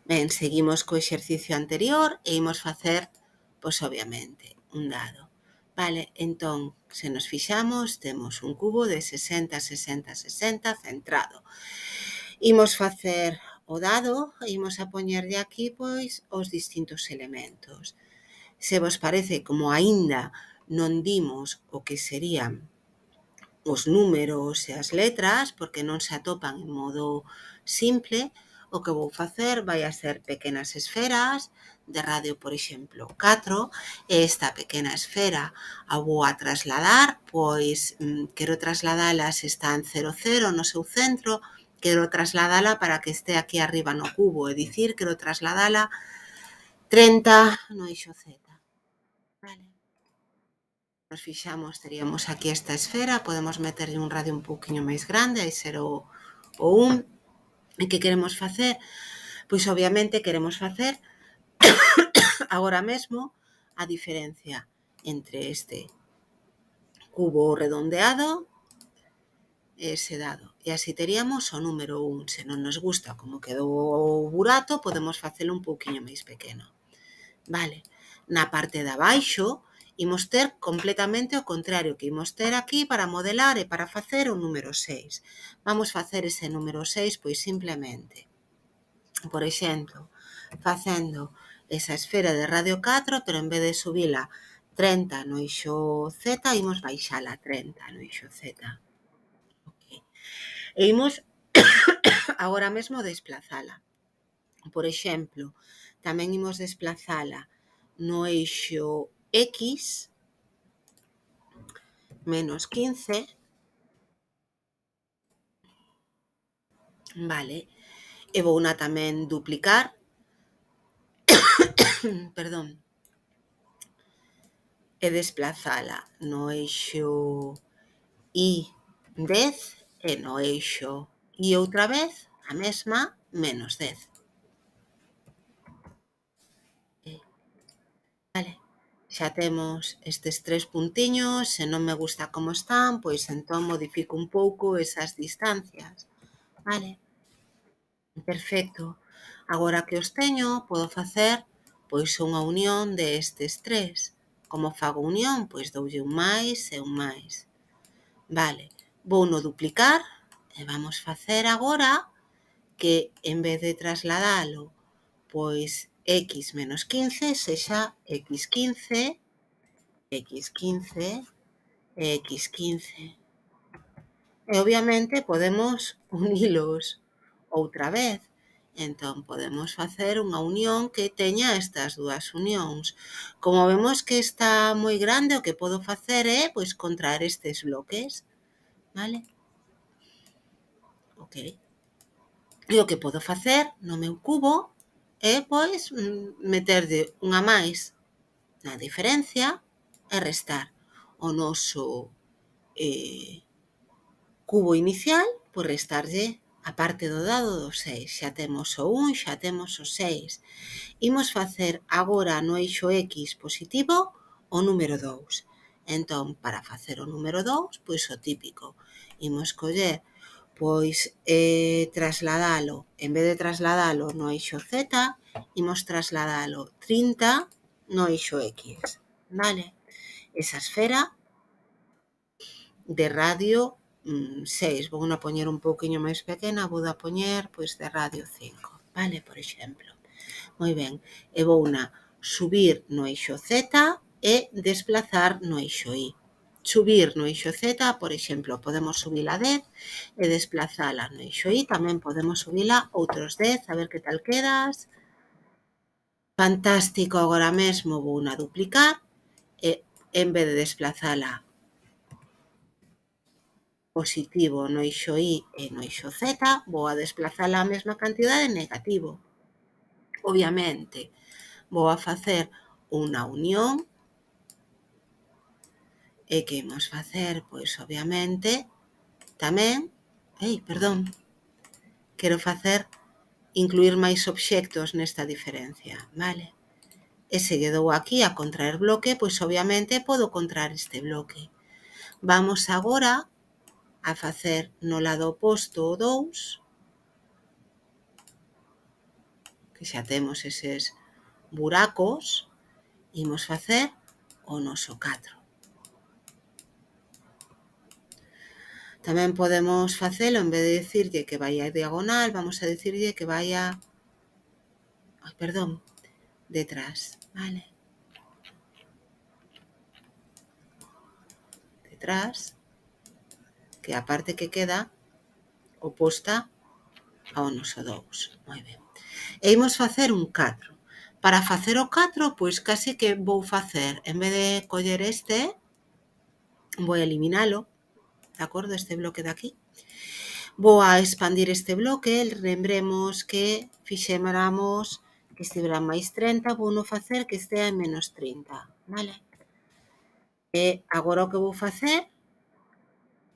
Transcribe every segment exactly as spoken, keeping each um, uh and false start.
Ben, seguimos co exercicio anterior e imos facer, pois obviamente, un dado. Vale, entón, se nos fixamos, temos un cubo de sesenta, sesenta, sesenta centrado. Imos facer o dado e imos a poñerlle aquí, pois, os distintos elementos. Se vos parece, como aínda non dimos o que serían os números e as letras, porque non se atopan en modo simple, o que vou facer vai a ser pequenas esferas de radio, por exemplo, catro, e esta pequena esfera a vou a trasladar, pois quero trasladala se está en cero, cero no seu centro, quero trasladala para que este aquí arriba no cubo, é dicir, quero trasladala trinta no eixo Z. Vale. Nos fixamos, teríamos aquí esta esfera, podemos meterlle un radio un pouquiño máis grande, aí ser o, o un. E que queremos facer? Pois obviamente queremos facer agora mesmo a diferencia entre este cubo redondeado e ese dado. E así teríamos o número un. Se non nos gusta como quedou o burato, podemos facelo un pouquiño máis pequeno. Vale. Na parte de abaixo, imos ter completamente o contrario que imos ter aquí para modelar e para facer o número seis. Vamos facer ese número seis, pois simplemente, por exemplo, facendo esa esfera de radio catro, pero en vez de subila trinta no eixo Z, imos baixala trinta no eixo Z. Okay. E imos agora mesmo desplazala. Por exemplo, tamén imos desplazala no eixo X menos quince, vale, e vouna tamén duplicar, perdón, e desplazala no eixo Y dez e no eixo Y outra vez a mesma menos dez. Vale, xa temos estes tres puntiños, se non me gusta como están, pois entón modifico un pouco esas distancias. Vale, perfecto. Agora que os teño, podo facer pois unha unión de estes tres. Como fago unión? Pois doulle un máis e un máis. Vale, vou no duplicar e vamos facer agora que en vez de trasladalo pois X menos quince sexa X quince, X quince e X quince. E obviamente podemos unilos outra vez. Entón podemos facer unha unión que teña estas dúas unións. Como vemos que está moi grande, o que podo facer é pois contraer estes bloques. Vale? Ok. E o que podo facer no meu cubo é pois meterlle unha máis na diferencia e restar o noso eh, cubo inicial, pois restarlle a parte do dado do seis. Xa temos o un, xa temos o seis. Imos facer agora no eixo X positivo o número dous. Entón, para facer o número dous, pois o típico. Imos coller, pois, eh, trasladalo, en vez de trasladalo no eixo Z, imos trasladalo trinta no eixo X. Vale? Esa esfera de radio seis, vou a poñer un pouquiño máis pequena, vou a poñer pois de radio cinco, vale, por exemplo. Moi ben, e vou a subir no eixo Z e desplazar no eixo Y. Subir no eixo Z, por exemplo, podemos subila dez e desplazala no eixo Y, tamén podemos subila outros dez, a ver que tal quedas. Fantástico, agora mesmo vou a duplicar e en vez de desplazala positivo no eixo Y e no eixo Z, vou a desplazala a mesma cantidade en negativo. Obviamente, vou a facer unha unión e que imos facer, pois, obviamente, tamén, ei, perdón, quero facer, incluir máis obxectos nesta diferencia, vale? E se lle dou aquí a contraer bloque, pois, obviamente, podo contraer este bloque. Vamos agora a facer no lado oposto o dous, que xa temos eses buracos, imos facer o noso catro. Tamén podemos facelo, en vez de dicirlle que vai a diagonal, vamos a dicirlle que vai a... Ai, perdón, detrás, vale? Detrás, que é a parte que queda oposta ao noso dous. Moi ben. E imos facer un catro. Para facer o catro, pois case que vou facer, en vez de coller este, vou eliminalo, de acordo, este bloque de aquí. Vou a expandir este bloque, lembremos que fixéramos que estivera máis trinta, vou non facer que estea en menos trinta, vale? E agora o que vou facer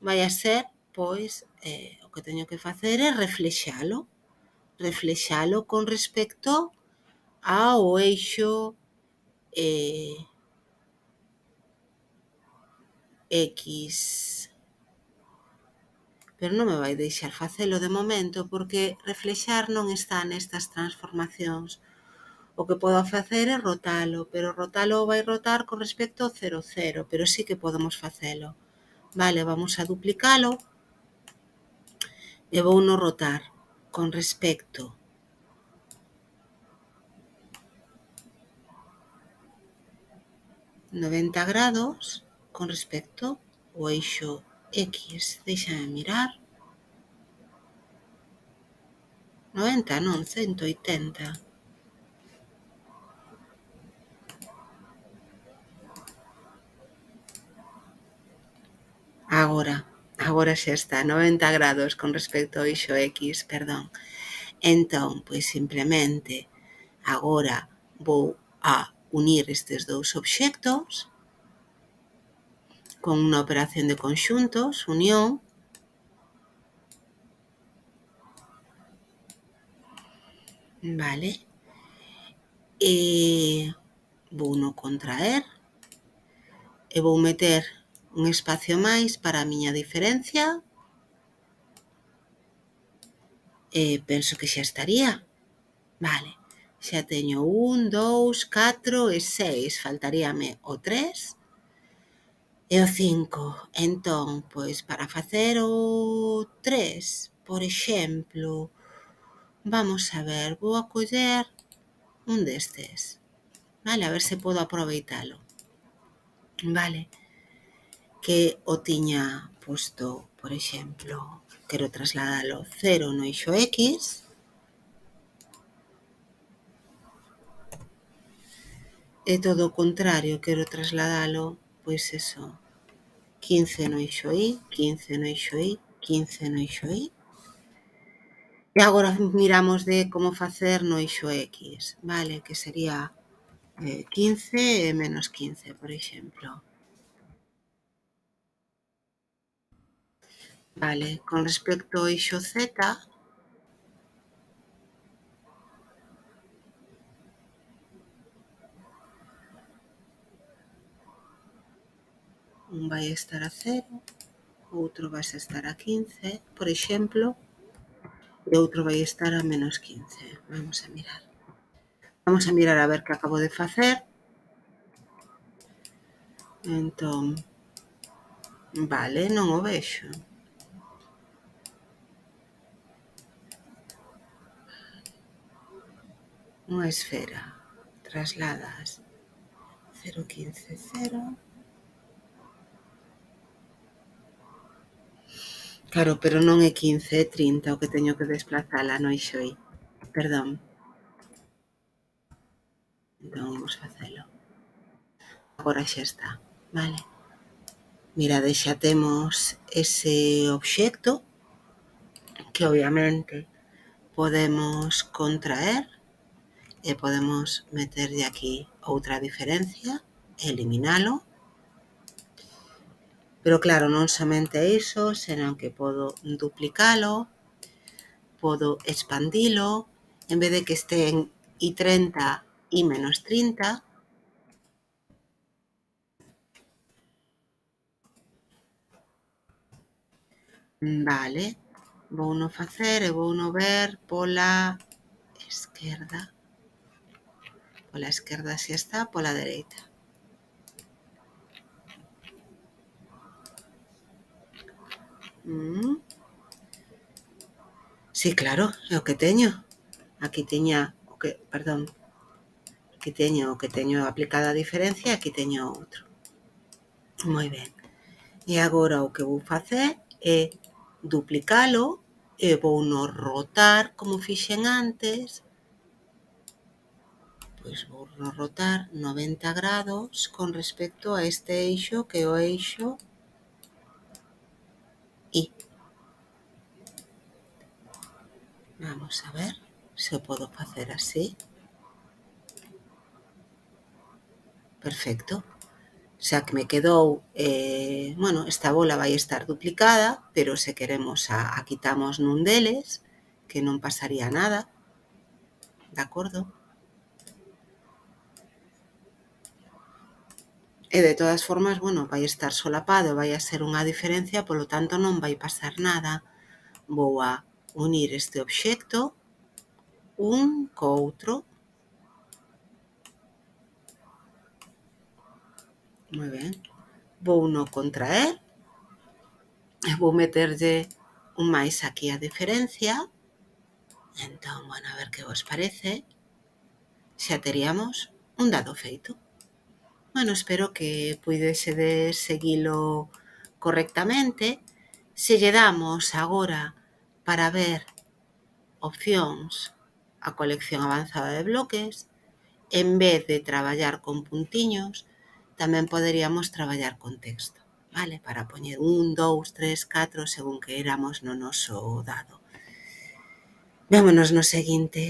vai a ser, pois, eh, o que teño que facer é reflexalo, reflexalo con respecto ao eixo eh, X. Pero non me vai deixar facelo de momento porque reflexar non está nestas transformacións. O que podo facer é rotalo, pero rotalo vai rotar con respecto ao cero, cero, pero sí que podemos facelo. Vale, vamos a duplicalo e vou no rotar con respecto noventa grados con respecto ao eixo X. Deixame mirar. noventa non, ciento oitenta. Agora, agora xa está, noventa grados con respecto ao eixo X, perdón. Entón, pois simplemente, agora vou a unir estes dous obxectos con unha operación de conxuntos, unión, vale, e vou no contraer e vou meter un espacio máis para a miña diferencia e penso que xa estaría. Vale, xa teño un, dous, catro e seis, faltaríame o tres e o cinco. Entón, pois para facer o tres, por exemplo, vamos a ver, vou a coller un destes, vale, a ver se podo aproveitalo, vale, que o tiña posto, por exemplo, quero trasladalo cero no eixo X, e todo o contrario, quero trasladalo, pois eso, quince no eixo Y, quince no eixo Y, quince no eixo Y. E agora miramos de como facer no eixo X, vale, que sería eh, quince e menos quince, por exemplo. Vale, con respecto ao eixo Z, un vai estar a cero, outro vai estar a quince, por exemplo, e outro vai estar a menos quince. Vamos a mirar. Vamos a mirar a ver que acabo de facer. Entón, vale, non o vexo. Unha esfera, trasladas cero, quince, cero. Claro, pero non é quince, é trinta o que teño que desplazala no eixo Y. Perdón. Entón, vamos facelo. Agora xa está, vale? Mirade, xa temos ese obxecto que obviamente podemos contraer e podemos meterlle aquí outra diferencia e eliminalo. Pero claro, non somente iso, senón que podo duplicalo, podo expandilo, en vez de que este en Y treinta, Y menos trinta, vale, vou no facer e vou no ver pola esquerda, pola esquerda si está, pola dereita. Mm. Sí, claro, é o que teño. Aquí tiña o que, perdón, aquí teño o que teño aplicada a diferencia e aquí teño outro. Moi ben. E agora o que vou facer é duplicalo e vou no rotar como fixen antes. Pois vou no rotar noventa grados con respecto a este eixo que é o eixo I. Vamos a ver se o podo facer así. Perfecto. Xa que me quedou, eh, bueno, esta bola vai estar duplicada, pero se queremos a, a quitamos nun deles, que non pasaría nada, de acordo? E de todas formas, bueno, vai estar solapado, vai a ser unha diferencia, polo tanto non vai pasar nada. Vou a unir este obxecto un co outro. Moi ben. Vou no contraer e vou meterlle un máis aquí a diferencia. Entón, bueno, a ver que vos parece. Xa teríamos un dado feito. Bueno, espero que puidesedes seguilo correctamente. Se lle damos agora para ver opcións a colección avanzada de bloques, en vez de traballar con puntiños, tamén poderíamos traballar con texto, vale? Para poñer un, dous, tres, catro, según que éramos no noso dado. Vémonos no seguinte.